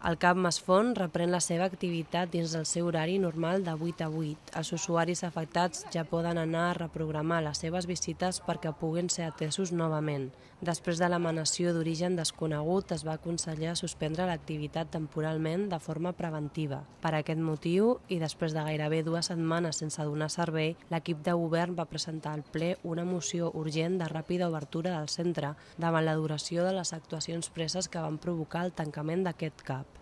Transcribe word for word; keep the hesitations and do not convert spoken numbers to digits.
El CAP Masfont reprèn la seva activitat dins del seu horari normal de vuit a vuit. Els usuaris afectats ja poden anar a reprogramar les seves visites perquè puguin ser atesos novament. Després de l'emanació d'origen desconegut, es va aconsellar suspendre l'activitat temporalment de forma preventiva. Per aquest motiu, i després de gairebé dues setmanes sense donar servei, l'equip de govern va presentar al ple una moció urgent de ràpida obertura del centre davant la duració de les actuacions preses que van provocar el tancament d'aquest CAP.